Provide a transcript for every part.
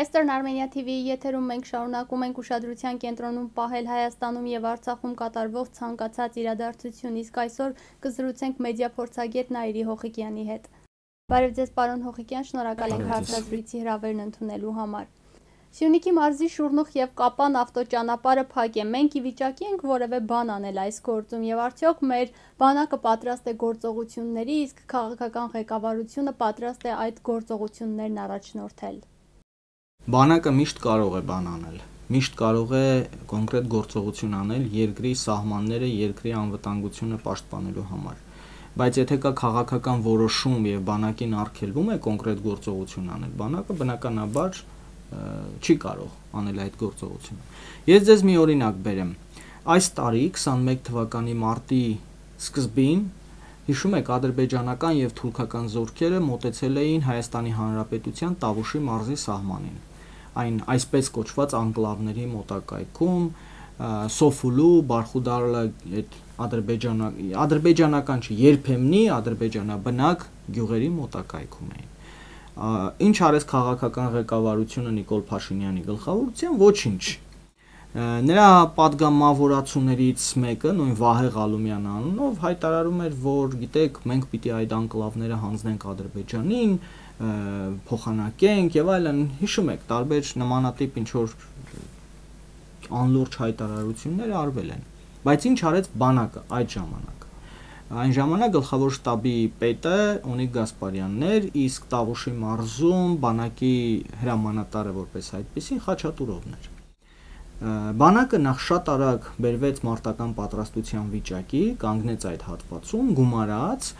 Western Armenia TV-ի եթերում մենք շարունակում ենք ուշադրության կենտրոնում պահել Հայաստանում եւ Արցախում կատարվող ցանկացած իրադարձություն, իսկ այսօր կզրուցենք մեդիա փորձագետ Նաիրի Հոխիկյանի հետ։ Բարև ձեզ, պարոն Հոխիկյան, շնորհակալ ենք հարցազրույցի հրավերն ընդունելու համար։ Սյունիքի մարզի Շուռնուխ եւ Կապան ավտոճանապարհը փակ է։ Մենք ի վիճակի ենք որևէ բան անել այս գործում եւ արդյոք մեր բանակը պատրաստ է գործողությունների, իսկ քաղաքական ղեկավարությունը պատրաստ է այդ գործողություններն առաջնորդել։ Բանակը միշտ կարող է բան անել, միշտ կարող է կոնկրետ գործողություն անել երկրի սահմանները, երկրի անվտանգությունը պաշտպանելու համար։ Բայց եթե կա քաղաքական որոշում եւ բանակին արգելվում է կոնկրետ գործողություն անել, բանակը բնականաբար չի կարող անել այդ գործողությունը։ Ես ձեզ մի օրինակ բերեմ։ Այս տարի 21 թվականի մարտի սկզբին հիշում եք ադրբեջանական եւ թուրքական զորքերը մոտեցել էին Հայաստանի Հանրապետության Տավուշի մարզի սահմանին։ Այն այսպես կոչված անկլավների մոտակայքում Սոֆուլու, Բարխուդարլա այդ ադրբեջանական չի, երբեմնի ադրբեջանաբնակ գյուղերի մոտակայքում էին։ Ինչ արեց քաղաքական ղեկավարությունը Նիկոլ Փաշինյանի գլխավորությամբ, ոչինչ։ Նրա падգամավորացուներից մեկը, նույն Վահե Ղալումյան անունով, հայտարարում էր, որ գիտեք, մենք պիտի այդ անկլավները հանձնենք Ադրբեջանին, փոխանակենք եւ այլն, հիշում եք, տարբեր նմանատիպ ինչ որ անլուրջ հայտարարություններ արվել են։ Բայց ինչ արեց բանակը այդ ժամանակ։ Այն ժամանակ գլխավոր շտաբի պետը Ունիկ Գասպարյանն էր, իսկ Տավուշի մարզում բանակի հրամանատարը որպես այդպեսին Խաչատուրովն էր։ Բանակը նախ շատ արագ բերվեց մարտական պատրաստության վիճակի, կանգնեց այդ հատվածում, գումարած,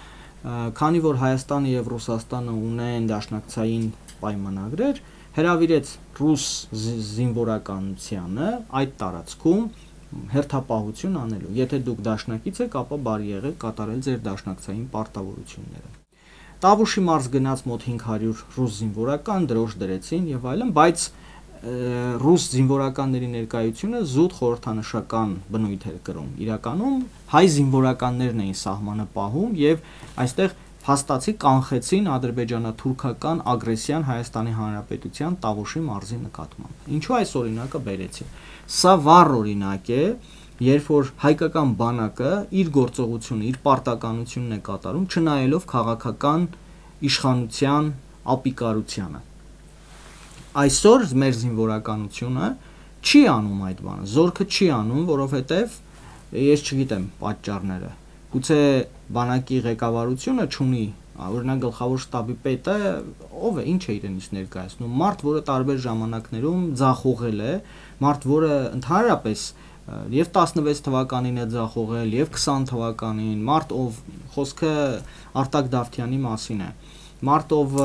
քանի որ Հայաստանը եւ Ռուսաստանը ունեն դաշնակցային պայմանագրեր, հրավիրեց ռուս զինվորականությանը այդ տարածքում հերթապահություն անելու։ Եթե դուք դաշնակից եք, ապա բարի եղեք կատարել ձեր դաշնակցային պարտավորությունները։ Տավուշի մարզ գնաց մոտ 500 ռուս զինվորական, դրոշ դրեցին եւ այլն, բայց ռուս զինվորականների ներկայությունը զուտ խորհրդանշական բնույթ էր կրում։ Իրականում հայ զինվորականներն էին սահմանը պահում եւ այստեղ հաստացի կանխեցին ադրբեջանա-թուրքական ագրեսիան Հայաստանի Հանրապետության Տավուշի մարզի նկատմամբ։ Ինչու այս օրինակը բերեցի։ Սա վառ օրինակ է, երբ որ հայկական բանակը իր գործողությունը, իր պարտականությունն է կատարում, չնայելով քաղաքական իշխանության ապիկարությանը։ Այսօր մեր զինվորականությունը չի անում այդ բանը, զորքը չի անում, որովհետև ես չգիտեմ պատճառները։ Գուցե բանակի ղեկավարությունը չունի, օրինակ գլխավոր շտաբի պետը ով է, ինչ է իրենից ներկայացնում, մարդ, որը տարբեր ժամանակներում ձախողել է, մարդ, որը ընդհանրապես եւ 16 թվականին է ձախողել, եւ 20 թվականին, մարդ, ով խոսքը Արտակ Դավթյանի մասին է, մարդ, ով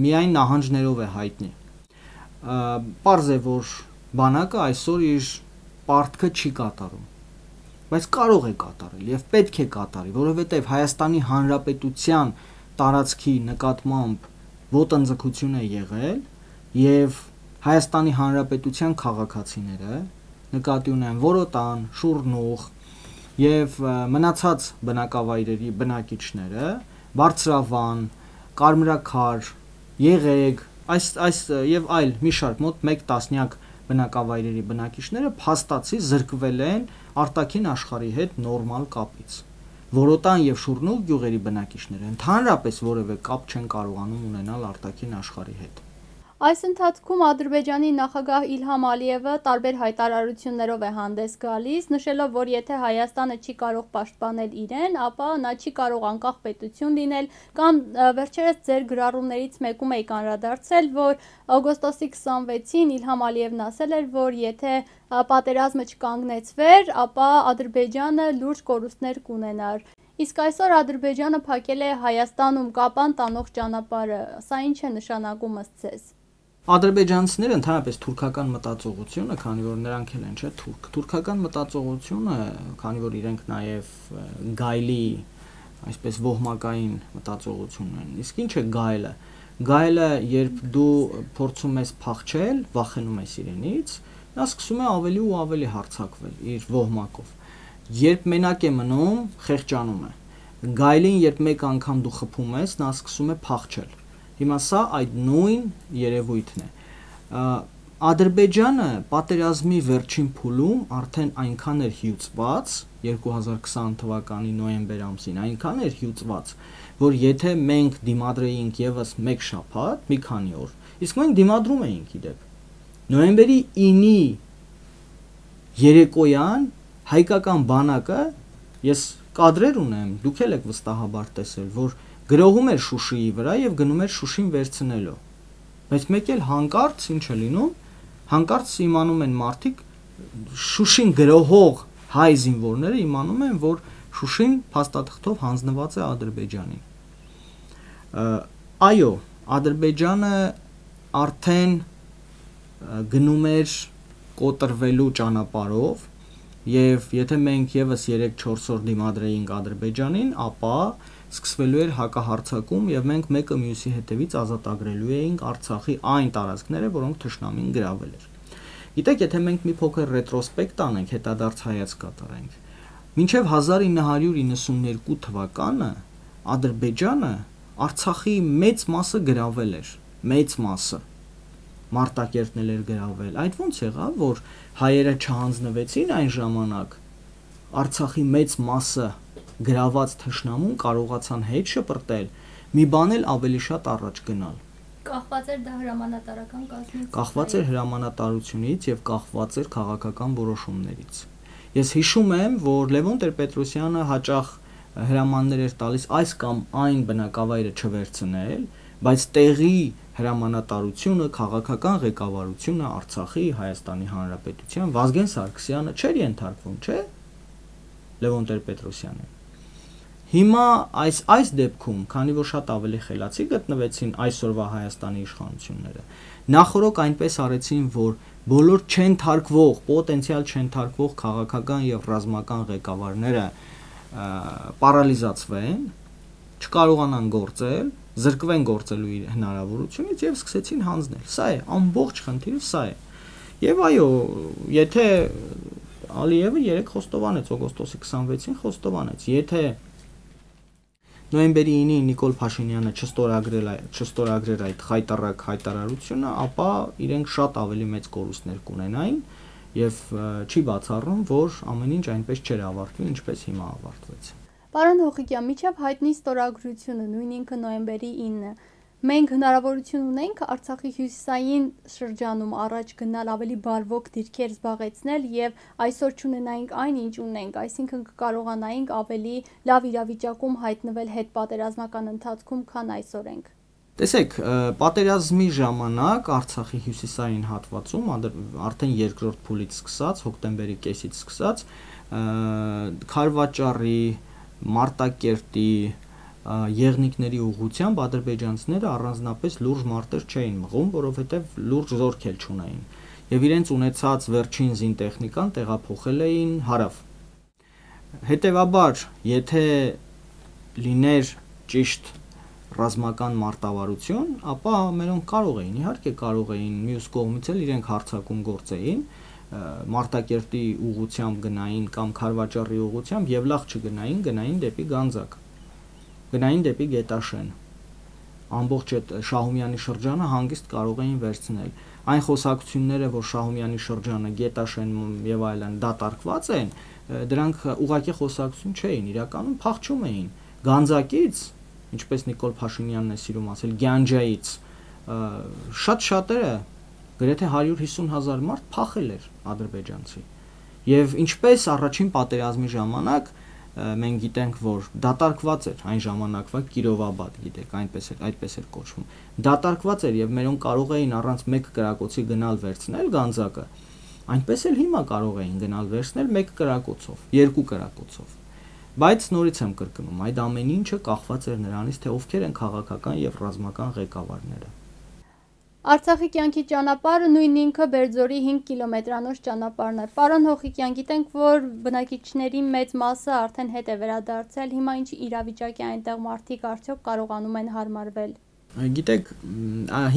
միայն նահանջներով է հայտնի։ Պարզ է, որ բանակը այսօր իր պարտքը չի կատարում, բայց կարող է կատարել եւ պետք է կատարի, որովհետեւ Հայաստանի Հանրապետության տարածքի նկատմամբ ոտնձգություն է եղել եւ Հայաստանի Հանրապետության քաղաքացիները նկատի ունեն Որոտան, Շուռնուխ եւ մնացած բնակավայրերի բնակիչները, Բարձրավան, Կարմրաքար, Եղեգ, այս եւ այլ մի շարք մոտ 1 տասնյակ բնակավայրերի բնակիչները փաստացի զրկվել են արտաքին աշխարհի հետ նորմալ կապից։ Որոտան եւ Շուռնուխ գյուղերի բնակիչները ընդհանրապես որևէ կապ չեն կարողանում ունենալ արտաքին աշխարհի հետ։ Այս ընթացքում Ադրբեջանի նախագահ Իլհամ Ալիևը տարբեր հայտարարություններով է հանդես գալիս, նշելով, որ եթե Հայաստանը չի կարող պաշտպանել իրեն, ապա նա չի կարող անկախ պետություն լինել, կամ վերջերս ձեր գրառումներից մեկում եք անդրադարձել, որ օգոստոսի 26-ին Իլհամ Ալիևն ասել էր, որ եթե պատերազմը չկանգնեցվեր, ապա Ադրբեջանը լուրջ կորուստներ կունենար։ Իսկ այսօր Ադրբեջանը փակել է Հայաստանում Կապան տանող ճանապարհը, սա ինչ է նշանակում ըստ ձեզ։ Ադրբեջանցիները ընդհանրապես թուրքական մտածողությունը, քանի որ նրանք էլ են, չէ՞, թուրքական մտածողությունը, քանի որ իրենք նաև գայլի, այսպես ոհմակային մտածողություն են։ Իսկ ինչ է գայլը։ Գայլը, երբ դու փորձում ես փախչել, վախենում ես իրենից, նա սկսում է ավելի ու ավելի հարձակվել իր ոհմակով։ Երբ մենակ է մնում, խեղճանում է։ Գայլին, երբ մեկ անգամ դու խփում ես, նա սկսում է փախչել։ Հիմա սա այդ նույն երևույթն է։ Ադրբեջանը պատերազմի վերջին փուլում արդեն այնքան էր հյուծված 2020 թվականի նոյեմբեր ամսին այնքան էր հյուծված, որ եթե մենք դիմադրեինք եւս մեկ շաբաթ, մի քանի օր, իսկ մենք դիմադրում էինք իդեպ։ Նոյեմբերի 9-ի երեկոյան հայկական բանակը, ես կադրեր ունեմ, դուք էլ եք վստահաբար տեսել, որ գրողում էր Շուշիի վրա եւ գնում էր Շուշին վերցնելով։ Բայց մեկ էլ հանկարծ ինչ է լինում, հանկարծ իմանում են մարդիկ, Շուշին գրողող հայ զինվորները իմանում են, որ Շուշին փաստաթղթով հանձնված է Ադրբեջանին։ Այո, Ադրբեջանը արդեն գնում էր կոտրվելու ճանապարհով եւ եթե մենք եւս 3-4 օր դիմադրեինք Ադրբեջանին, ապա սկսվելու էր հակահարձակում եւ մենք մեկը մյուսի հետևից ազատագրելու էինք Արցախի այն տարածքները, որոնք թշնամին գրավել էր։ Գիտեք, եթե մենք մի փոքր ռետրոսպեկտ անենք, հետադարձ հայացք կատարենք, մինչև 1992 թվականը Ադրբեջանը Արցախի մեծ մասը գրավել էր, մեծ մասը Մարտակերտն էր գրավել։ Այդ ոնց եղավ, որ հայերը չհանձնվեցին այն ժամանակ, Արցախի մեծ մասը գրաված թշնամուն կարողացան հետ շպրտել, մի բան էլ ավելի շատ առաջ գնալ։ Կախված էր դա հրամանատարական կազմից։ Կախված էր հրամանատարությունից եւ կախված էր քաղաքական որոշումներից։ Ես հիշում եմ, որ Լևոն Տեր-Պետրոսյանը հաճախ հրամաններ էր տալիս այս կամ այն բնակավայրը չվերցնել, բայց տեղի հրամանատարությունը, քաղաքական ղեկավարությունը Արցախի, Հայաստանի Հանրապետության Վազգեն Սարգսյանը չէր ենթարկվում, չէ՞։ Լևոն Տեր-Պետրոսյանը։ Հիմա այս դեպքում, քանի որ շատ ավելի խելացի գտնվեցին այսօրվա Հայաստանի իշխանությունները, նախորոք այնպես արեցին, որ բոլոր չեն թարգվող, պոտենցիալ չեն թարգվող քաղաքական եւ ռազմական ղեկավարները պարալիզացվեն, չկարողանան գործել, զրկվեն գործելու իր հնարավորությունից եւ սկսեցին հանձնել։ Սա է, ամբողջ խնդիրը սա է։ Եվ այո, եթե Ալիևը 3 խոստովանեց, օգոստոսի 26-ին խոստովանեց, եթե նոյեմբերի 9-ին Նիկոլ Փաշինյանը չստորագրեր այդ խայտառակ հայտարարությունը, ապա իրենք շատ ավելի մեծ կորուստներ կունենային եւ չի բացառում, որ ամեն ինչ այնպես չէր ավարտվի, ինչպես հիմա ավարտվեց։ Պարոն Հոխիկյան, միջև հայտնի ստորագրությունը, նույն ինքը նոյեմբերի 9-ը, մենք հնարավորություն ունենք Արցախի հյուսիսային շրջանում առաջ գնալ, ավելի բարվոք դիրքեր զբաղեցնել եւ այսօր չունենայինք այն, ինչ ունենք, այսինքն կկարողանայինք ավելի լավ իրավիճակում հայտնվել հետպատերազմական ընթացքում, քան այսօր ենք։ Տեսեք, պատերազմի ժամանակ Արցախի հյուսիսային հատվածում արդեն երկրորդ փուլից սկսած, հոկտեմբերի կեսից սկսած, Քարվաճառի, Մարտակերտի, Եղնիկների ուղղությամբ ադրբեջանցիները առանձնապես լուրջ մարտեր չէին մղում, որովհետև լուրջ զորք էլ չունեին եւ իրենց ունեցած վերջին զինտեխնիկան տեղափոխել էին հարավ։ Հետևաբար, եթե լիներ ճիշտ ռազմական մարտավարություն, ապա մերոնք կարող էին, իհարկե կարող էին մյուս կողմից էլ իրենք հարձակում գործեին, Մարտակերտի ուղղությամբ գնային կամ Քարվաճառի ուղղությամբ եւ լավ չգնային, գնային դեպի Գանձակ, գնային դեպի Գետաշեն։ Ամբողջ այդ Շահումյանի շրջանը հանգիստ կարող էին վերցնել։ Այն խոսակցությունները, որ Շահումյանի շրջանը, Գետաշեն եւ այլն դատարկված են, դրանք ուղղակի խոսակցություն չէին, իրականում փախչում էին Գանձակից, ինչպես Նիկոլ Փաշինյանն է սիրում ասել, Գյանջայից շատ-շատերը գրեթե 150,000 մարդ փախել էր ադրբեջանցի։ Եվ ինչպես առաջին պատերազմի ժամանակ մենք գիտենք, որ դատարկված էր այն ժամանակվա Կիրովաբադ, գիտեք, այդպես էր կոչվում։ Դատարկված էր եւ մերոնք կարող էին առանց մեկ կրակոցի գնալ վերցնել Գանձակը, այնպես էլ հիմա կարող էին գնալ վերցնել մեկ կրակոցով, երկու կրակոցով։ Բայց նորից եմ կրկնում, այդ ամեն ինչը կախված էր նրանից, թե ովքեր են քաղաքական եւ ռազմական ղեկավարները։ Արցախի կյանքի ճանապարհը նույն ինքը Բերձորի 5 կիլոմետրանոց ճանապարհն է։ Պարոն Հոխիկյան, գիտենք, որ բնակիչների մեծ մասը արդեն հետ է վերադարձել, հիմա ինչ իրավիճակ է այնտեղ, մարդիկ արդյոք կարողանում են հարմարվել։ Գիտեք,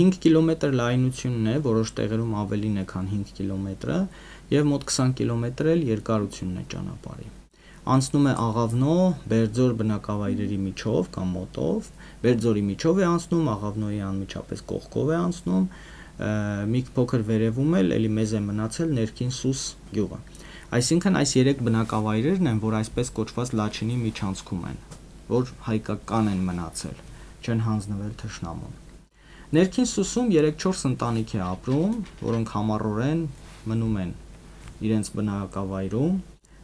5 կիլոմետր լայնությունն է, որոշ տեղերում ավելին է, քան 5 կիլոմետրը, եւ մոտ 20 կիլոմետր էլ երկարությունն է ճանապարհի։ Անցնում է Աղավնո, Բերձոր բնակավայրերի միջով կամ մոտով, Բերձորի միջով է անցնում, Աղավնոյի անմիջապես կողքով է անցնում, մի փոքր վերևում էլ էլի մեզ է մնացել ներքին Սուս գյուղը։ Այսինքն այս 3 բնակավայրերն են, որ այսպես կոչված Լաչինի միջանցքում են, որ հայկական են մնացել, չեն հանձնվել թշնամուն։ Ներքին Սուսում 3-4 ընտանիք է ապրում, որոնք համառորեն մնում են իրենց բնակավայրում։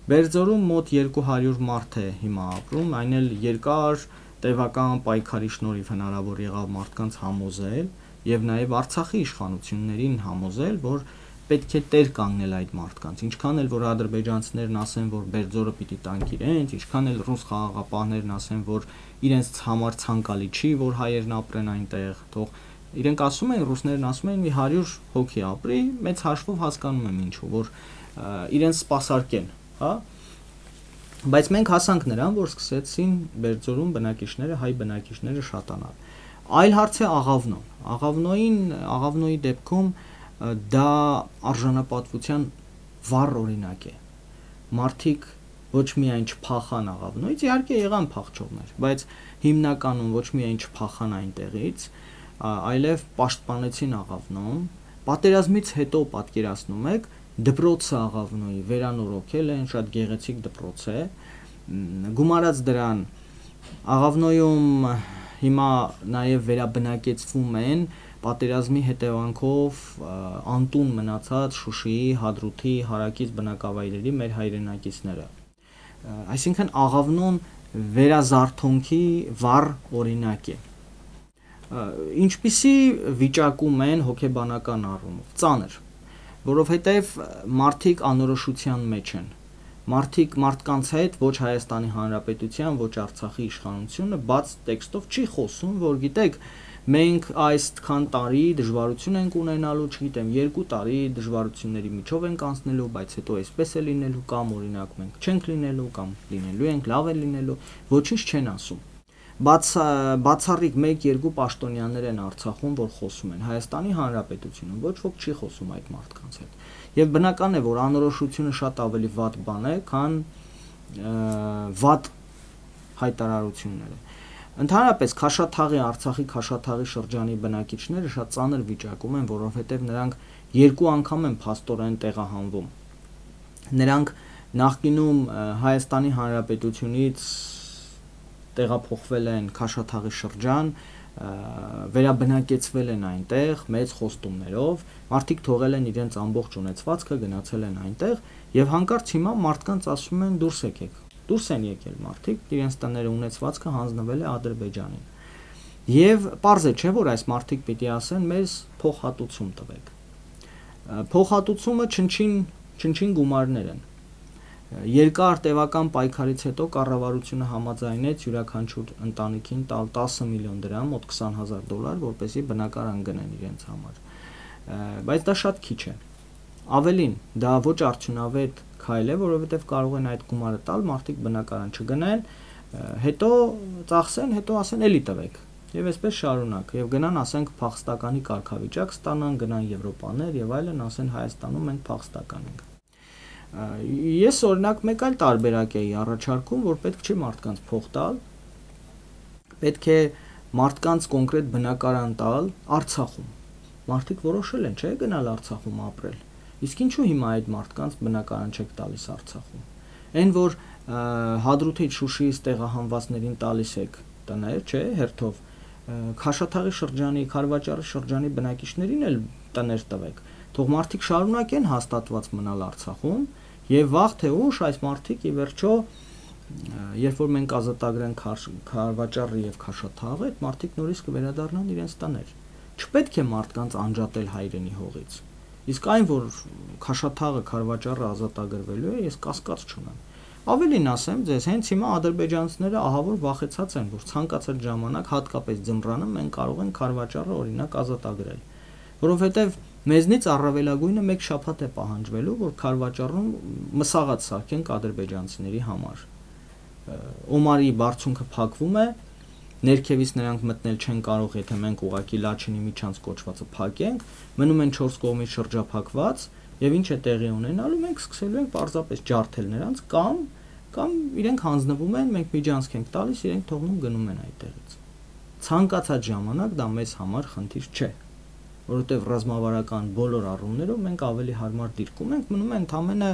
Բերձորում մոտ 200 մարդ է հիմա ապրում, այն էլ երկար տևական պայքարի շնորհիվ հնարավոր եղավ մարդկանց համոզել եւ նաեւ Արցախի իշխանություններին համոզել, որ պետք է տեր կանգնել այդ մարդկանց, ինչքան էլ որ ադրբեջանցիներն ասեն, որ Բերձորը պիտի տանք իրենց, ինչքան էլ ռուս խաղաղապահներն ասեն, որ իրենց համար ցանկալի չի, որ հայերն ապրեն այնտեղ, թող իրենք ասում են, ռուսներն ասում են մի 100 հոգի ապրի, մեծ հաշվով հասկանում եմ ինչու, որ իրենց սպասարկեն, հա։ Բայց մենք հասանք նրան, որ սկսեցին Բերձորում բնակիչները, հայ բնակիչները շատանալ։ Այլ հարց է աղավնոն։ Աղավնոյի դեպքում դա արժանապատվության վառ օրինակ է։ Մարդիկ ոչ միայն չփախան աղավնոյից, իհարկե եղան փախչողներ, բայց հիմնականում ոչ միայն չփախան այնտեղից, այլև պաշտպանեցին աղավնոն։ Պատերազմից հետո պատկերացնում եք, դպրոցը աղավնոյի վերանորոգել են, շատ գեղեցիկ դպրոց է։ Գումարած դրան աղավնոյում հիմա նաև վերաբնակեցվում են պատերազմի հետևանքով անտուն մնացած Շուշիի, Հադրութի, Հարակից բնակավայրերի մեր հայրենակիցները։ Այսինքն աղավնոն վերազարթոնքի վառ օրինակ է։ Ինչպիսի վիճակում են հոգեբանական առումով, ծանր, որովհետև մարդիկ անորոշության մեջ են, մարդկանց հետ ոչ Հայաստանի Հանրապետության, ոչ Արցախի իշխանությունը բաց տեքստով չի խոսում, որ գիտեք, մենք այսքան տարի դժվարություն ենք ունենալու, չգիտեմ, 2 տարի դժվարությունների միջով ենք անցնելու, բայց հետո այսպես է լինելու, կամ օրինակ մենք չենք լինելու, կամ լինելու ենք, լավ է լինելու, ոչինչ չեն ասում։ Բացառիկ 1-2 պաշտոնյաներ են Արցախում, որ խոսում են, Հայաստանի Հանրապետությունում ոչ ոք չի խոսում այդ մարդկանց հետ։ Եվ բնական է, որ անորոշությունը շատ ավելի վատ բան է, քան վատ հայտարարությունները։ Ընդհանրապես Քաշաթաղի, Արցախի Քաշաթաղի շրջանի բնակիչները շատ ծանր վիճակում են, որովհետև նրանք 2 անգամ են փաստորեն տեղահանվում։ Նրանք նախկինում Հայաստանի Հանրապետությունից տեղափոխվել են Քաշաթաղի շրջան, վերաբնակեցվել են այնտեղ մեծ խոստումներով, մարդիկ թողել են իրենց ամբողջ ունեցվածքը, գնացել են այնտեղ եւ հանկարծ հիմա մարդկանց ասում են դուրս եկեք։ Դուրս են եկել մարդիկ, իրենց տները ունեցվածքը հանձնվել է Ադրբեջանին։ Եվ պարզ է, չէ՞ որ այս մարդիկ պիտի ասեն մեզ փոխհատուցում տվեք։ Փոխհատուցումը չնչին գումարներ են։ Երկար տևական պայքարից հետո կառավարությունը համաձայնեց յուրաքանչյուր ընտանիքին տալ 10 միլիոն դրամ, մոտ $20,000, որպեսզի բնակարան գնեն իրենց համար։ Բայց դա շատ քիչ է։ Ավելին, դա ոչ արդյունավետ քայլ է, որովհետև կարող են այդ գումարը տալ, մարդիկ բնակարան չգնեն, հետո ծախսեն, հետո ասեն էլի տվեք։ Եվ այսպես շարունակ, եւ գնան, ասենք, փախստականի կարգավիճակ ստանան, գնան Եվրոպաներ եւ այլն, ասեն Հայաստանում մենք փախստական ենք։ Ես օրինակ մեկ այլ տարբերակ էի առաջարկում, որ պետք չի մարդկանց փող տալ, պետք է մարդկանց կոնկրետ բնակարան տալ Արցախում։ Մարդիկ որոշել են, չէ՞, գնալ Արցախում ապրել։ Իսկ ինչու հիմա այդ մարդկանց բնակարան չեք տալիս Արցախում։ Այն որ Հադրութից, Շուշիից տեղահանվածներին տալիս եք տներ, չէ՞, հերթով, Քաշաթաղի շրջանի, Խարվաճարի շրջանի բնակիչներին էլ տներ տվեք։ Թող մարդիկ շարունակեն հաստատված մնալ Արցախում եւ վաղ թե ուշ այս մարդիկ ի վերջո երբ որ մենք ազատագրենք Խարվաճարը եւ Քաշաթաղը, այդ մարդիկ նորից կվերադառնան իրենց տներ։ Չպետք է մարդկանց անջատել հայրենի հողից։ Իսկ այն որ Քաշաթաղը, Խարվաճարը ազատագրվելու է, ես կասկած չունեմ։ Ավելին ասեմ ձեզ, հենց հիմա ադրբեջանցիները ահավոր վախեցած են, որ ցանկացած ժամանակ հատկապես ձմռանը մենք կարող ենք Խարվաճարը օրինակ ազատագրել, որովհետեւ մեզնից առավելագույնը 1 շաբաթ է պահանջվելու, որ Խարվաճարում մսաղաց սարքենք ադրբեջանցիների համար։ Օմարի բարձունքը փակվում է, ներքևից նրանք մտնել չեն կարող, եթե մենք ուղակի Լաչինի միջանց կոչվածը փակենք, մնում են 4 կողմից շրջափակված, եւ ինչ է տեղի ունենալու, մենք սկսելու ենք պարզապես ջարդել նրանց կամ իրենք հանձնվում են, մենք միջանցք ենք տալիս, իրենք թողնում գնում են այդտեղից։ Ցանկացած ժամանակ դա մեզ համար խնդիր չէ։ որովհետև ռազմավարական բոլոր առումներով մենք ավելի հարմար դիրքում ենք, մնում է ընդամենը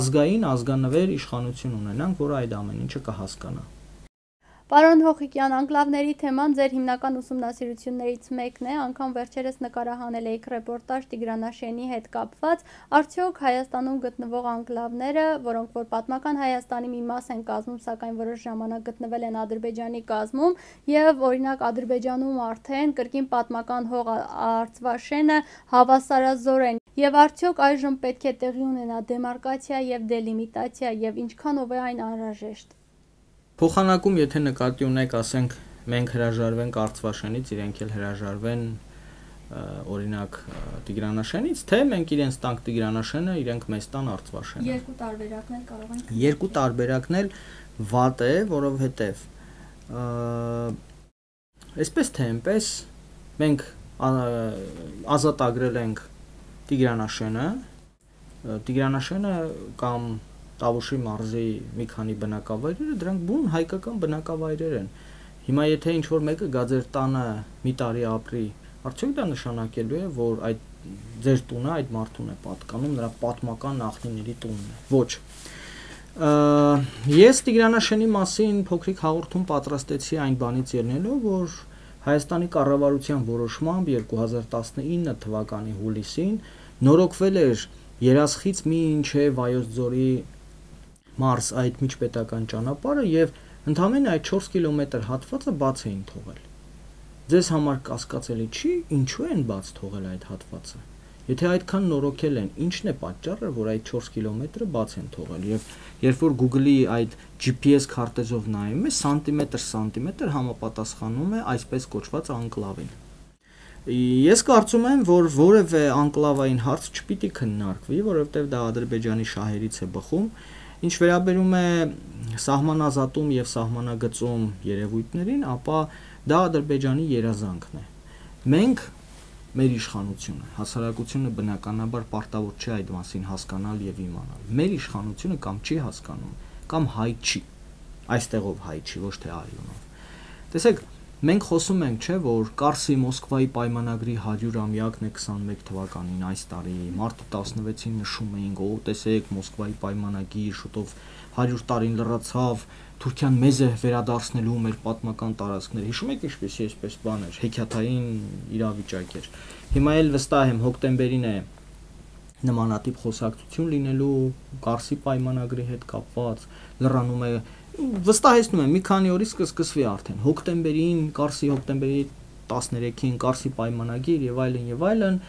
ազգային, ազգանվեր իշխանություն ունենանք, որը այդ ամեն ինչը կհասկանա։ Պարոն Հոխիկյան, անկլավների թեման ձեր հիմնական ուսումնասիրություններից մեկն է, անգամ վերջերս նկարահանել եք ռեպորտաժ Տիգրանաշենի հետ կապված, արդյոք Հայաստանում գտնվող անկլավները, որոնք որ պատմական Հայաստանի մի մաս են կազմում, սակայն որոշ ժամանակ գտնվել են Ադրբեջանի կազմում, եւ օրինակ Ադրբեջանում արդեն կրկին պատմական հող Արցվաշենը հավասարազոր են, եւ արդյոք այժմ պետք է տեղի ունենա դեմարկացիա եւ դելիմիտացիա եւ ինչքանով է այն անհրաժեշտ։ Փոխանակում, եթե նկատի ունեք, ասենք, մենք հրաժարվենք Արցվաշենից, իրենք էլ հրաժարվեն օրինակ Տիգրանաշենից, թե մենք իրենց տանք Տիգրանաշենը, իրենք մեզ տան Արցվաշենը։ Երկու տարբերակն էլ կարող են։ Երկու տարբերակն էլ վատ է, որովհետև այսպես թե այնպես մենք ազատագրել ենք Տիգրանաշենը կամ Տավուշի մարզի մի քանի բնակավայրերը, դրանք բուն հայկական բնակավայրեր են։ Հիմա եթե ինչ-որ մեկը գա ձեր տանը մի տարի ապրի, արդյոք դա նշանակելու է, որ այդ ձեր տունը այդ մարդուն է պատկանում, նրա պատմական նախնիների տունն է։ Ոչ։ Ես Տիգրանաշենի մասին փոքրիկ հաղորդում պատրաստեցի այն բանից ելնելով, որ Հայաստանի կառավարության որոշմամբ 2019 թվականի հուլիսին նորոգվել էր Երասխից մինչև Վայոց ձորի մարզ այդ միջպետական ճանապարհը եւ ընդամենը այդ 4 կիլոմետր հատվածը բաց էին թողել։ Ձեզ համար կասկածելի չի, ինչու են բաց թողել այդ հատվածը։ Եթե այդքան նորոգել են, ինչն է պատճառը, որ այդ 4 կիլոմետրը բաց են թողել եւ երբ որ Google-ի այդ GPS քարտեզով նայում է, սանտիմետր համապատասխանում է այսպես կոչված անկլավին։ Ես կարծում եմ, որ որևէ անկլավային հարց չպիտի քննարկվի, որովհետեւ դա Ադրբեջանի շահերից է բխում։ Ինչ վերաբերում է սահմանազատում եւ սահմանագծում երևույթներին, ապա դա Ադրբեջանի երազանքն է։ Մենք մեր իշխանությունը, հասարակությունը բնականաբար պարտավոր չէ այդ մասին հասկանալ եւ իմանալ։ Մեր իշխանությունը կամ չի հասկանում, կամ հայ չի։ Այստեղով հայ չի, ոչ թե արյունով։ Տեսեք, մենք խոսում ենք, չէ, որ Կարսի Մոսկվայի պայմանագրի 100-ամյակն է 21 թվականին այս տարի, մարտի 16-ին նշում էինք, օ, տեսեք, Մոսկվայի պայմանագիր, շուտով 100 տարին լրացավ, Թուրքիան մեզ է վերադարձնելու մեր պատմական տարածքները։ Հիշում եք ինչպեսի այսպես բան էր, հեքիաթային իրավիճակ էր։ Հիմա էլ վստահ եմ հոկտեմբերին է նմանատիպ խոսակցություն լինելու Կարսի պայմանագրի հետ կապված, լրանում է, վստահեցնում եմ, մի քանի օրից կսկսվի արդեն։ Հոկտեմբերին, Կարսի հոկտեմբերի 13-ին Կարսի պայմանագիր եւ այլն,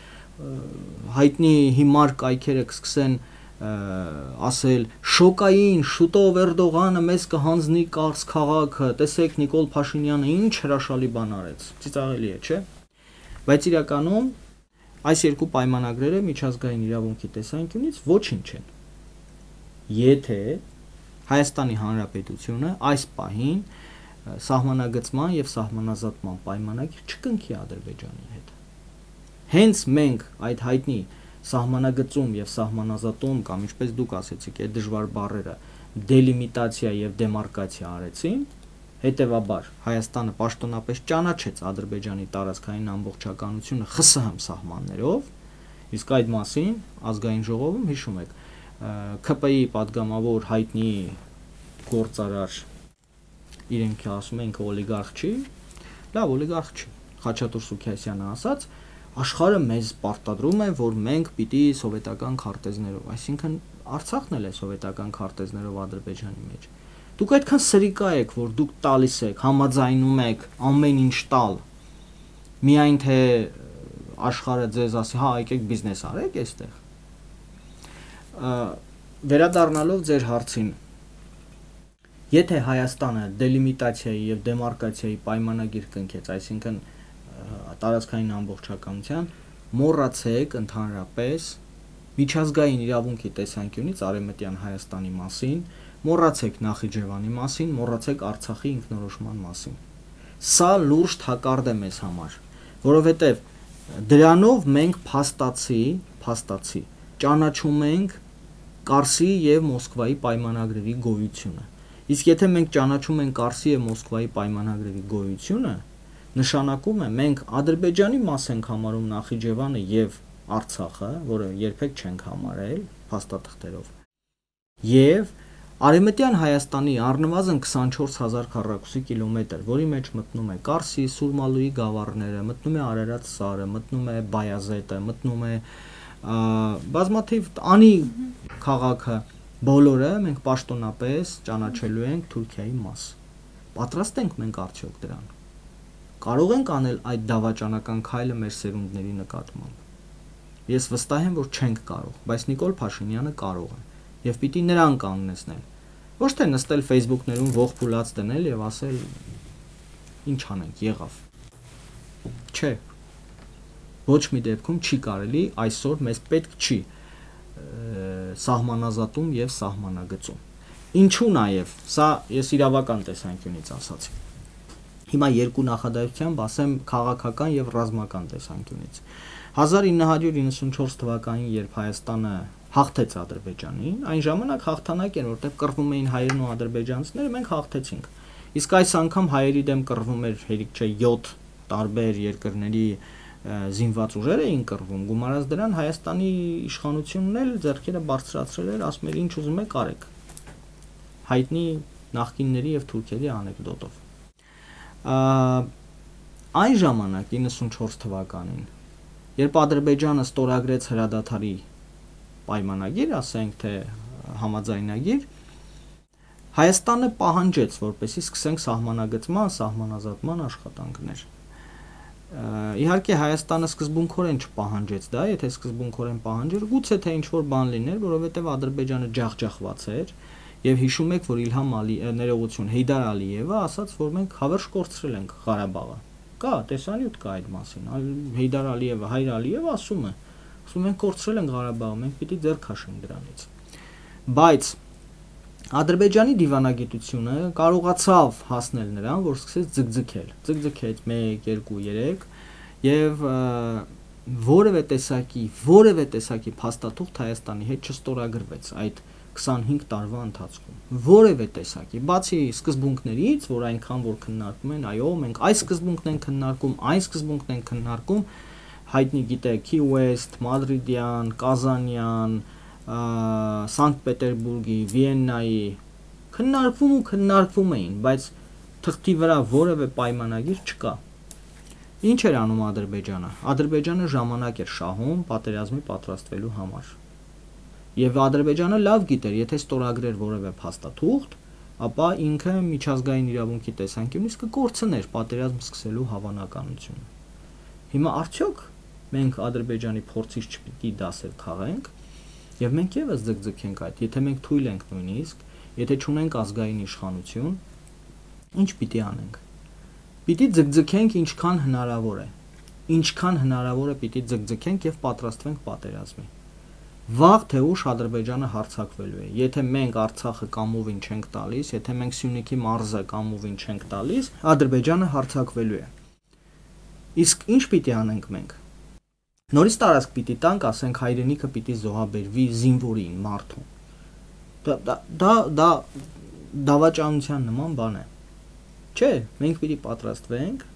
հայտնի հիմար կայքերը կսկսեն ասել շոկային շուտով Էրդողանը մեզ կհանձնի Կարս քաղաքը, տեսեք Նիկոլ Փաշինյանը ինչ հրաշալի բան արեց։ Ծիծաղելի է, չէ՞։ Բայց իրականում այս երկու պայմանագրերը միջազգային իրավունքի տեսանկյունից ոչինչ են։ Եթե Հայաստանի Հանրապետությունը այս պահին սահմանագծման եւ սահմանազատման պայմանագիր չկնքի Ադրբեջանի հետ։ Հենց մենք այդ հայտնի սահմանագծում եւ սահմանազատում կամ ինչպես դուք ասեցիք, այդ դժվար բառերը դելիմիտացիա եւ դեմարկացիա արեցին, հետեւաբար Հայաստանը պաշտոնապես ճանաչեց Ադրբեջանի տարածքային ամբողջականությունը ԽՍՀՄ սահմաններով, իսկ այդ մասին ազգային ժողովում հիշում եք ՔՊ-ի падգամավոր հայտնի գործարար իրենք ասում են օլիգարխ չի, լավ օլիգարխ չի, Խաչատուր Սուքիասյանը ասաց, աշխարհը մեզ պարտադրում է, որ մենք պիտի սովետական քարտեզներով, այսինքն Արցախն էլ է սովետական քարտեզներով Ադրբեջանի մեջ։ Դուք այդքան սրիկա եք, որ դուք տալիս եք, համաձայնում եք ամեն ինչ տալ։ Միայն թե աշխարհը ձեզ ասի, հա, եկեք բիզնես արեք այստեղ։ Վերադառնալով ձեր հարցին, եթե Հայաստանը դելիմիտացիայի եւ դեմարկացիայի պայմանագիր կնքեց, այսինքն տարածքային ամբողջականության, մոռացեք ընդհանրապես միջազգային իրավունքի տեսանկյունից Արևմտյան Հայաստանի մասին, մոռացեք Նախիջևանի մասին, մոռացեք Արցախի ինքնորոշման մասին։ Սա լուրջ թակարդ է մեզ համար, որովհետև դրանով մենք փաստացի ճանաչում ենք Կարսի եւ Մոսկվայի պայմանագրերի գոյությունը։ Իսկ եթե մենք ճանաչում ենք Կարսի եւ Մոսկվայի պայմանագրերի գոյությունը, նշանակում է մենք Ադրբեջանի մաս ենք համարում Նախիջևանը եւ Արցախը, որը երբեք չենք համարել փաստաթղթերով, եւ Արևմտյան Հայաստանի առնվազն 24000 քառակուսի կիլոմետր, որի մեջ մտնում է Կարսի, Սուրմալուի գավառները, մտնում է Արարատ սարը, մտնում է Բայազետը, մտնում է բազմաթիվ Անի քաղաքը, բոլորը մենք պաշտոնապես ճանաչելու ենք Թուրքիայի մաս։ Պատրաստ ենք մենք արդյոք դրան։ Կարող ենք անել այդ դավաճանական քայլը մեր սերունդների նկատմամբ։ Ես վստահ եմ, որ չենք կարող, բայց Նիկոլ Փաշինյանը կարող է։ Եվ պիտի նրան կանգնեցնել։ Ոչ թե նստել Facebook-ներում ողջ փուլած դնել եւ ասել ինչ անենք, եղավ։ Չէ։ Ոչ մի դեպքում չի կարելի, այսօր մեզ պետք չի սահմանազատում եւ սահմանագծում։ Ինչու նաեւ, սա ես իրավական տեսանկյունից ասացի։ Հիմա երկու նախադասությամբ ասեմ քաղաքական եւ ռազմական տեսանկյունից։ 1994 թվականին, երբ Հայաստանը հաղթեց Ադրբեջանին, այն ժամանակ հաղթանակ էր, որտեղ կռվում էին հայերն ու ադրբեջանցիները, մենք հաղթեցինք։ Իսկ այս անգամ հայերի դեմ կռվում էր, հերիք չէ, 7 տարբեր երկրների զինված ուժեր էին կռվում, գումարած դրան Հայաստանի իշխանությունն էլ ձեռքերը բարձրացրել էր, ասում էր ինչ ուզում եք արեք։ Հայտնի նախկինների եւ թուրքերի անեկդոտով։ Այն ժամանակ 94 թվականին, երբ Ադրբեջանը ստորագրեց հրադադարի պայմանագիր, ասենք թե համաձայնագիր, Հայաստանը պահանջեց, որպեսզի սկսենք սահմանագծման, սահմանազատման աշխատանքներ։ Իհարկե Հայաստանը սկզբունքորեն չպահանջեց դա, եթե սկզբունքորեն պահանջեր, գուցե թե ինչ-որ բան լիներ, որովհետև Ադրբեջանը ջախջախված էր, եւ հիշում եք, որ Իլհամ ներողություն Հեյդար Ալիևը ասաց, որ մենք հավերժ կորցրել ենք Ղարաբաղը։ Կա, տեսանյութ կա այդ մասին։ Հեյդար Ալիևը, Հայր Ալիևը ասում է, մենք կորցրել ենք Ղարաբաղը, մենք պիտի ձեռ քաշենք դրանից։ Բայց Ադրբեջանի դիվանագիտությունը կարողացավ հասնել նրան, որ սկսեց ձգձգել։ Ձգձգեց 1, 2, 3 եւ որևէ տեսակի փաստաթուղթ Հայաստանի հետ չստորագրվեց այդ 25 տարվա ընթացքում։ Որևէ տեսակի, բացի սկզբունքներից, որ այնքան որ քննարկում են, այո, մենք այս սկզբունքն ենք քննարկում, այս սկզբունքն ենք քննարկում, հայտնի գիտեք, Key West, Մադրիդյան, Կազանյան, Սանկտ Պետերբուրգի, Վիեննայի քննարկվում էին, բայց թղթի վրա որևէ պայմանագիր չկա։ Ինչ էր անում Ադրբեջանը։ Ադրբեջանը ժամանակ էր շահում պատերազմի պատրաստվելու համար։ Եվ Ադրբեջանը լավ գիտեր, եթե ստորագրեր որևէ փաստաթուղթ, ապա ինքը միջազգային իրավունքի տեսանկյունից կկորցներ պատերազմ սկսելու հավանականությունը։ Հիմա արդյոք մենք Ադրբեջանի փորձից չպիտի դասեր քաղենք, եւ մենք եւս ձգձգենք այդ, եթե մենք թույլ ենք նույնիսկ, եթե չունենք ազգային իշխանություն, ինչ պիտի անենք։ Պիտի ձգձգենք ինչքան հնարավոր է։ Ինչքան հնարավոր է պիտի ձգձգենք եւ պատրաստվենք պատերազմի։ Վաղ թե ուշ Ադրբեջանը հարձակվելու է։ Եթե մենք Արցախը կամովին չենք տալիս, եթե մենք Սյունիքի մարզը կամովին չենք տալիս, Ադրբեջանը հարձակվելու է։ Իսկ ինչ պիտի անենք մենք։ Նորից տարածք պիտի տանք, ասենք հայրենիքը պիտի զոհաբերվի զինվորին, մարդուն։ Դա դավաճանության նման բան է։ Չէ, մենք պիտի պատրաստվենք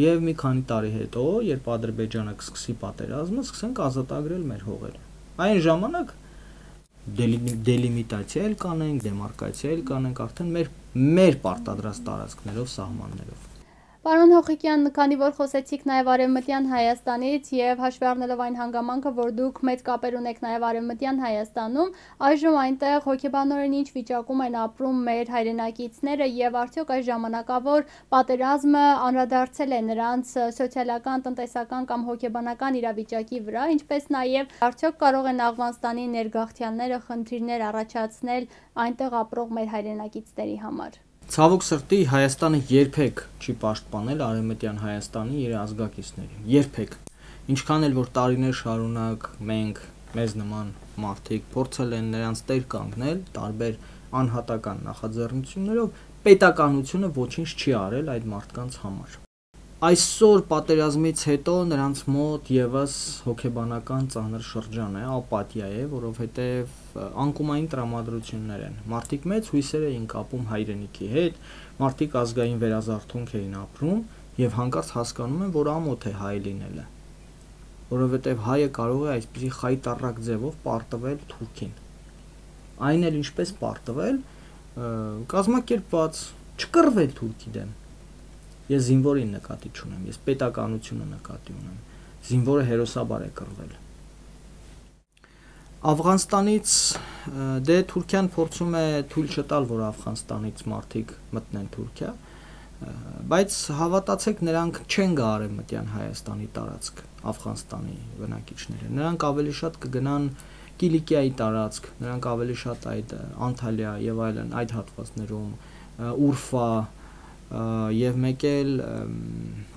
եւ մի քանի տարի հետո, երբ Ադրբեջանը կսկսի պատերազմը, սկսենք ազատագրել մեր հողերը։ Այն ժամանակ դելիմիտացիա էլ կանենք, դեմարկացիա էլ կանենք, արդեն մեր պարտադրած տարածքներով, սահմաններով։ Պարոն Հոխիկյան, քանի որ խոսեցիք նաև Արևմտյան Հայաստանից եւ հաշվի առնելով այն հանգամանքը, որ դուք մեծ կապեր ունեք նաև Արևմտյան Հայաստանում, այժմ այնտեղ հոգեբանորեն ինչ վիճակում են ապրում մեր հայրենակիցները եւ արդյոք այս ժամանակավոր պատերազմը անդրադարձել է նրանց սոցիալական, տնտեսական կամ հոգեբանական իրավիճակի վրա, ինչպես նաև արդյոք կարող են Աֆղանստանի ներգաղթյալները խնդիրներ առաջացնել այնտեղ ապրող մեր հայրենակիցների համար։ Ցավոք սրտի Հայաստանը երբեք չի պաշտպանել Արևմտյան Հայաստանի իր ազգակիցներին, երբեք։ Ինչքան էլ որ տարիներ շարունակ մենք մեզ նման մարդիկ փորձել են նրանց տեր կանգնել տարբեր անհատական նախաձեռնություններով, պետականությունը ոչինչ չի արել այդ մարդկանց համար։ Այսօր պատերազմից հետո նրանց մոտ եւս հոգեբանական ծանր շրջան է, ապաթիա է, որովհետեւ անկումային տրամադրություններ են։ Մարդիկ մեծ հույսեր էին կապում հայրենիքի հետ, մարդիկ ազգային վերազարթոնք էին ապրում եւ հանկարծ հասկանում են, որ ամոթ է հայ լինելը, որովհետեւ հայը կարող է այսպիսի խայտառակ ձևով պարտվել թուրքին։ Այն էլ ինչպես պարտվել, կազմակերպված, չկռվել թուրքի դեմ։ Ես զինվորին նկատի չունեմ, ես պետականությունը նկատի ունեմ։ Զինվորը հերոսաբար է կռվել։ Աֆղանստանից դե Թուրքիան փորձում է թույլ չտալ, որ Աֆղանստանից մարդիկ մտնեն Թուրքիա, բայց հավատացեք, նրանք չեն գա Արևմտյան Հայաստանի տարածք, Աֆղանստանի բնակիչները։ Նրանք ավելի շատ կգնան Կիլիկիայի տարածք, նրանք ավելի շատ այդ Անտալիա եւ այլն այդ հատվածներում, Ուրֆա եւ մեկ էլ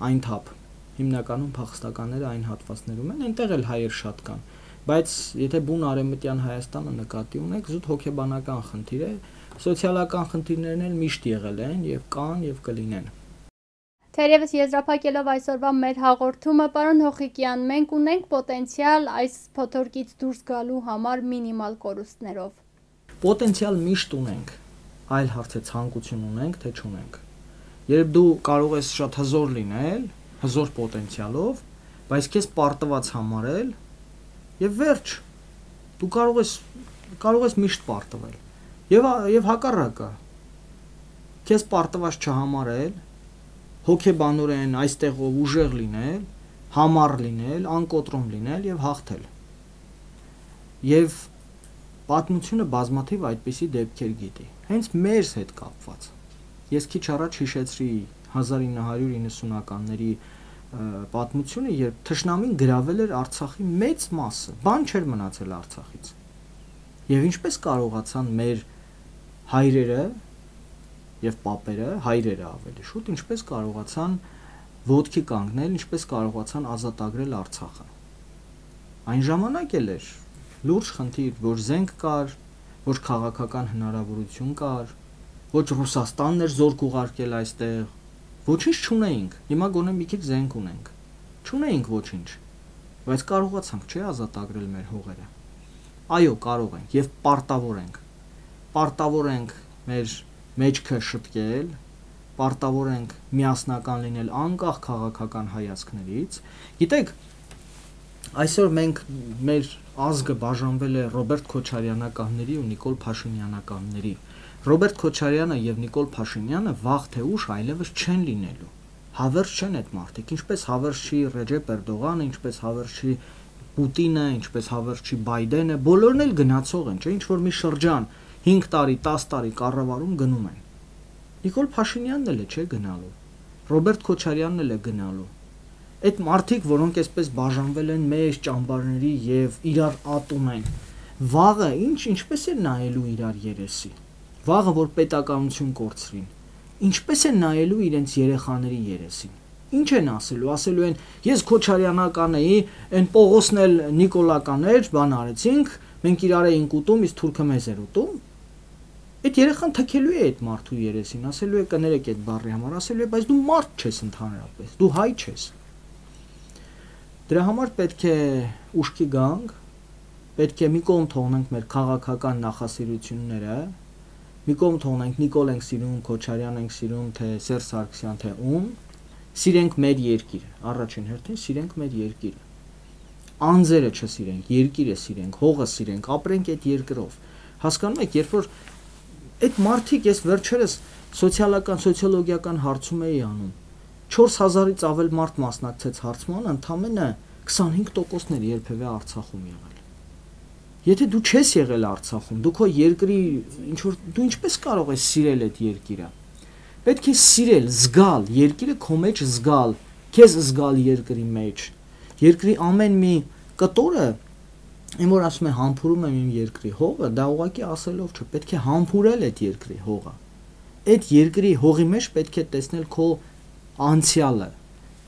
Այնթապ, հիմնականում փախստականները այն հատվածներում են, այնտեղ էլ հայեր շատ կան, բայց եթե բուն Արևմտյան Հայաստանը նկատի ունեք, զուտ հոգեբանական խնդիր է, սոցիալական խնդիրներն էլ միշտ եղել են եւ կան եւ կլինեն։ Թերևս եզրափակելով այսօրվա մեր հաղորդումը, պարոն Հոխիկյան, մենք ունենք պոտենցիալ այս փոթորկից դուրս գալու համար մինիմալ կորուստներով։ Պոտենցիալ միշտ ունենք, այլ հարց է ցանկություն ունենք, թե չունենք։ Երբ դու կարող ես շատ հզոր լինել, հզոր պոտենցիալով, բայց քեզ պարտված համարել եւ վերջ, դու կարող ես միշտ պարտվել։ Եվ հակառակը, քեզ պարտված չհամարել, հոգեբանորեն այստեղով ուժեղ լինել, համառ լինել, անկոտրում լինել եւ հաղթել։ Եւ պատմությունը բազմաթիվ այդպիսի դեպքեր գիտի, հենց մեզ հետ կապված։ Ես քիչ առաջ հիշեցրի 1990-ականների պատմությունը, երբ թշնամին գրավել էր Արցախի մեծ մասը, բան չէր մնացել Արցախից։ Եվ ինչպես կարողացան մեր հայրերը եւ պապերը, հայրերը ավելի շուտ, ինչպես կարողացան ոտքի կանգնել, ինչպես կարողացան ազատագրել Արցախը։ Այն ժամանակ էլ էր լուրջ խնդիր, որ զենք կար, որ քաղաքական հնարավորություն կար, ոչ Ռուսաստանն էր զորք ուղարկել այստեղ, ոչինչ չունեինք։ Հիմա գոնե մի քիչ զենք ունենք։ Չունեինք ոչինչ, բայց կարողացանք, չէ՞, ազատագրել մեր հողերը։ Այո, կարող ենք եւ պարտավոր ենք մեր մեջքը շտկել, պարտավոր ենք միասնական լինել անկախ քաղաքական հայացքներից։ Գիտեք, այսօր մենք մեր ազգը բաժանվել է Ռոբերտ Քոչարյանականների ու Նիկոլ Փաշինյանականների։ Ռոբերտ Քոչարյանը եւ Նիկոլ Փաշինյանը վաղ թե ուշ այլևս չեն լինելու։ Հավերժ չեն այդ մարդիկ, ինչպես հավերժ չի Ռեջեփ Էրդողանը, ինչպես հավերժ չի Պուտինը, ինչպես հավերժ չի Բայդենը, բոլորն էլ գնացող են, չէ՞, ինչ որ մի շրջան 5 տարի, 10 տարի կառավարում գնում են։ Նիկոլ Փաշինյանն էլ է, չէ, գնալու։ Ռոբերտ Քոչարյանն էլ է գնալու։ Այդ մարդիկ, որոնք այսպես բաժանվել են մեծ ճամբարների եւ իրար ատում են, վաղը ինչպես է նայելու իրար երեսի։ Վաղը որ պետականություն կորցրին, ինչպես է նայելու իրենց երեխաների երեսին։ Ինչ են ասելու են, ես Քոչարյանական էի, այն Պողոսն էլ Նիկոլական էր, բան արեցինք, մենք իրար էինք ուտում, իսկ թուրքը մեզ էր ուտում։ Այդ երեխան թքելու է այդ մարդու երեսին, ասելու է կներեք այդ բառի համար, ասելու է, բայց դու մարդ չես ընդհանրապես, դու հայ չես։ Դրա համար պետք է ուշքի գանք, պետք է մի կողմ թողնենք մեր քաղաքական նախասիրությունները, մի կողմ թողնենք Նիկոլ ենք սիրում, Քոչարյան ենք սիրում, թե Սերժ Սարգսյան, թե ում, սիրենք մեր երկիրը, առաջին հերթին սիրենք մեր երկիրը։ Անձերը չսիրենք, երկիրը սիրենք, հողը սիրենք, ապրենք այդ երկրով։ Հասկանում եք, երբ որ այդ մարդիկ, ես վերջերս սոցիալոգիական հարցում էի անում, 4000-ից ավել մարդ մասնակցեց հարցմանը, ընդամենը 25%-ն էր երբևէ Արցախում եղել։ Եթե դու չես եղել Արցախում, դու քո երկրի դու ինչպես կարող ես սիրել այդ երկիրը։ Պետք է սիրել, զգալ, երկիրը քո մեջ զգալ, քեզ զգալ երկրի մեջ։ Երկրի ամեն մի կտորը, այն որ ասում է համբուրում եմ իմ երկրի հողը, դա ուղղակի ասելով չէ, պետք է համբուրել այդ երկրի հողը։ Այդ երկրի հողի մեջ պետք է տեսնել քո անցյալը,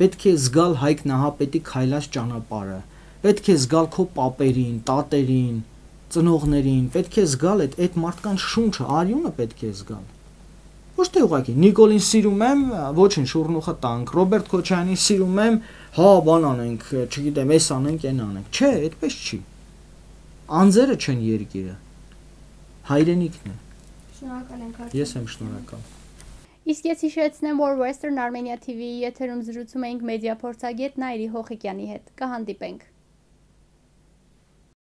պետք է զգալ Հայկ Նահապետի քայլած ճանապարհը, պետք է զգալ քո պապերին, տատերին, ծնողներին, պետք է զգալ այդ մարդկանց շունչը, արյունը պետք է զգալ։ Ոչ թե ուղղակի Նիկոլին սիրում եմ, ոչինչ, շուրնուխը տանք, Ռոբերտ Քոչարյանին սիրում եմ, հա, բան անենք, չգիտեմ, էս անենք, այն անենք։ Չէ, այդպես չի։ Անձերը չեն երկիրը, հայրենիքն է։ Շնորհակալ ենք։ Ես եմ շնորհակալ։ Իսկ ես հիշեցնեմ, որ Western Armenia TV-ի եթերում զրուցում էինք մեդիա փորձագետ Նայիրի Հոխիկյանի հետ։ Կհանդիպենք։